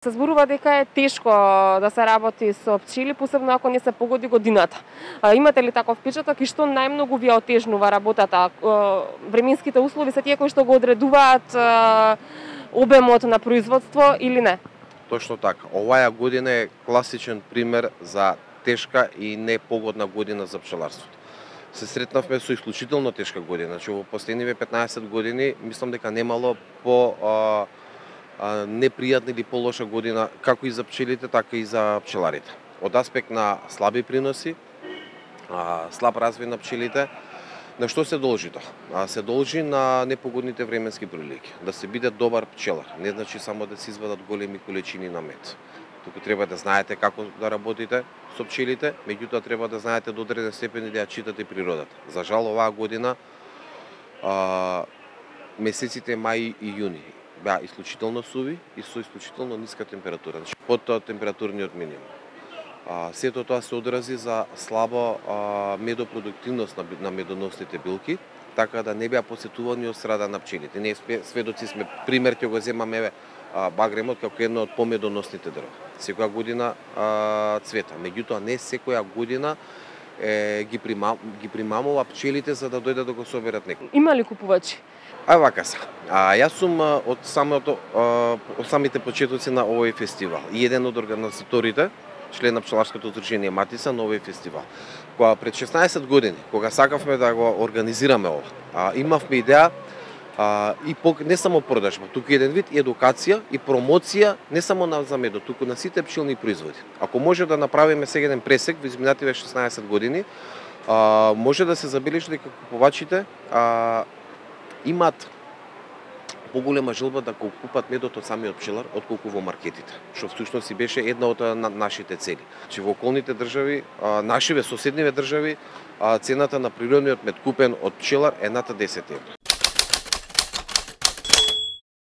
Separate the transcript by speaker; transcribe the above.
Speaker 1: Се зборува дека е тешко да се работи со пчели, посебно ако не се погоди годината. Имате ли таков впечаток и што најмногу ви отежнува работата? Временските услови се тие кои што го одредуваат обемот на производство или не?
Speaker 2: Точно така. Оваа година е класичен пример за тешка и непогодна година за пчеларството. Се сретнавме со исклучително тешка година. Значи во последниве 15 години мислам дека немало по непријатна или полоша година како и за пчелите, така и за пчеларите. Од аспект на слаби приноси, слаб развој на пчелите, на што се должи тоа? Се должи на непогодните временски прилики. Да се биде добар пчелар, не значи само да се извадат големи количини на мед. Туку треба да знаете како да работите со пчелите, меѓутоа треба да знаете до одреден степен и да ја читате природата. За жал оваа година месеците мај и јуни беа исклучително суви и со исклучително ниска температура, значи под температурниот минимум. Сето тоа се одрази за слаба медопродуктивност на медоносните билки, така да не беа посетувани од страда на пчелите. Ние сведоци сме, пример ќе го земаме багремот како едно од помедоносните дрва. Секоја година цвета, меѓутоа не секоја година ги примамува пчелите за да дојдат да го соберат некој.
Speaker 1: Има ли купувачи?
Speaker 2: Вака се. Јас сум од самите почетоци на овој фестивал и еден од организаторите, член на пчеларското здружение Матица на овој фестивал. Кога пред 16 години, кога сакавме да го организираме ова, имавме идеја и не само продажба, туку еден вид едукација и промоција не само за медот, туку на сите пчелни производи. Ако може да направиме сега еден пресек во изминативе 16 години, може да се забележи дека купувачите имаат поголема желба да го купат медот од самиот пчелар отколку во маркетите, што всушност и беше една од нашите цели. Че во околните држави, нашиве соседниве држави, цената на природниот мед купен од пчелар е над 10 евра.